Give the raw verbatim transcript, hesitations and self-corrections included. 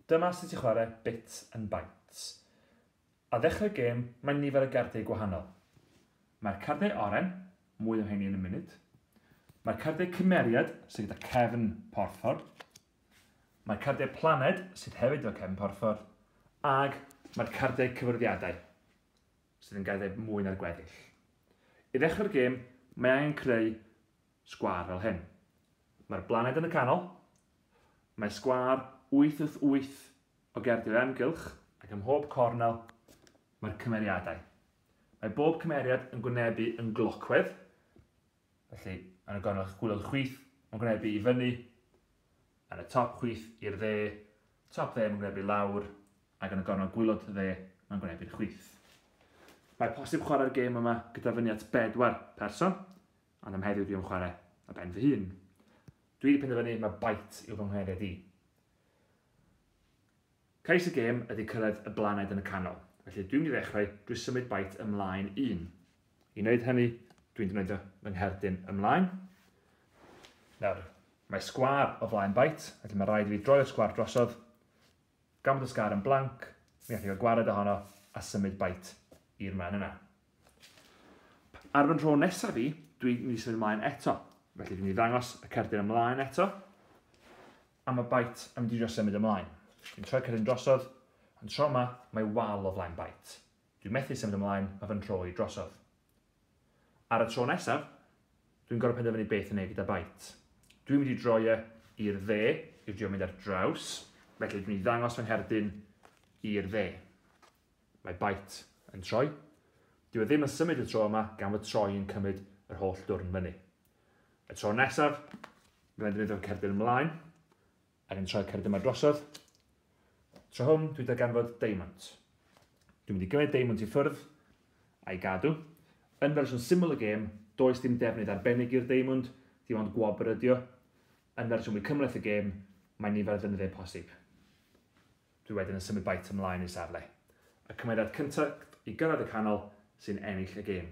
Dyma sut i chwarae Bits and Bytes. A ddechrau'r gêm, mae nifer o gardiau gwahanol. Mae'r cardiau oren, mwy o hynny yn y munud. Mae'r cardiau cymeriad, sydd gyda cefn porffor. Mae'r cardiau planed, sydd hefyd efo cefn porffor. Ag mae'r cardiau cyfwryddiadau, sydd yn gardiau mwy na'r gweddill. I ddechrau'r gêm, mae angen creu sgwâr fel hyn. Mae'r blaned yn y canol, mae sgwâr wyth wrth wyth o gerdiau amgylch, ac ym mhob cornel mae'r cymeriadau. Mae bob cymeriad yn gwynebu yn glocwedd, felly yn y gornel chwilod chwith, mae'n gwynebu i fyny, yn y top chwith i'r dde, top dde mae'n gwynebu lawr, ac yn y gornel gwylod dde mae'n gwynebu'r chwith. Mae posib chwarae'r gêm yma gyda fyny at bedwar person, ond am heddiw dwi'n chwarae ar ben fy hun. Dwi wedi penderfynu mae Byte yw fy nghymeriad i. Cais y gêm ydy cyrraedd y blaned yn y canol, felly dwi'n mynd i ddechrau drwy symud Byte ymlaen un. I wneud hynny, dwi'n defnyddio fy ngherdyn ymlaen. Nawr, mae sgwâr o flaen Byte, felly mae rhaid i fi droi'r sgwâr drosodd. Gan bod y sgwâr yn blanc, mi allai gael gwared ohono a symud Byte i'r man yna. Ar fy nhro nesaf fi, dwi'n mynd i symud ymlaen eto. Felly dwi'n mynd i ddangos y cerdyn ymlaen eto, a mae Byte yn mynd i drio symud ymlaen. Dwi'n troi cerdyn drosodd, ond tro yma mae wal o flaen Byte. Dwi'n methu symud ymlaen, mae fy nhro i drosodd. Ar y tro nesaf, dwi'n gorfod penderfynu beth yn ei gyda Byte. Dwi'n mynd i droi e i'r dde, i drio mynd ar draws, felly dwi'n mynd i ddangos fy ngherdyn i'r dde. Mae Byte yn troi. Dyw e ddim yn symud y tro yma, gan fod troi yn cymryd yr holl dwrn fyny. Y tro nesaf, byddai'n defnyddio'r cerdyn ymlaen, ac yn troi'r cerdyn yma drosodd. Tro hwn, dwi'n darganfod diamond. Dwi'n mynd i gymryd diamond i ffwrdd a'i gadw. Yn fersiwn syml y gêm, does dim defnydd arbennig i'r diamond, dim ond gwobr ydi o. Yn fersiwn mwy cymhleth y gêm, mae nifer o ddefnyddiau posib. Dwi wedyn yn symud Byte ymlaen i safle. Y cymeriad cyntaf i gyrraedd y canol sy'n ennill y gêm.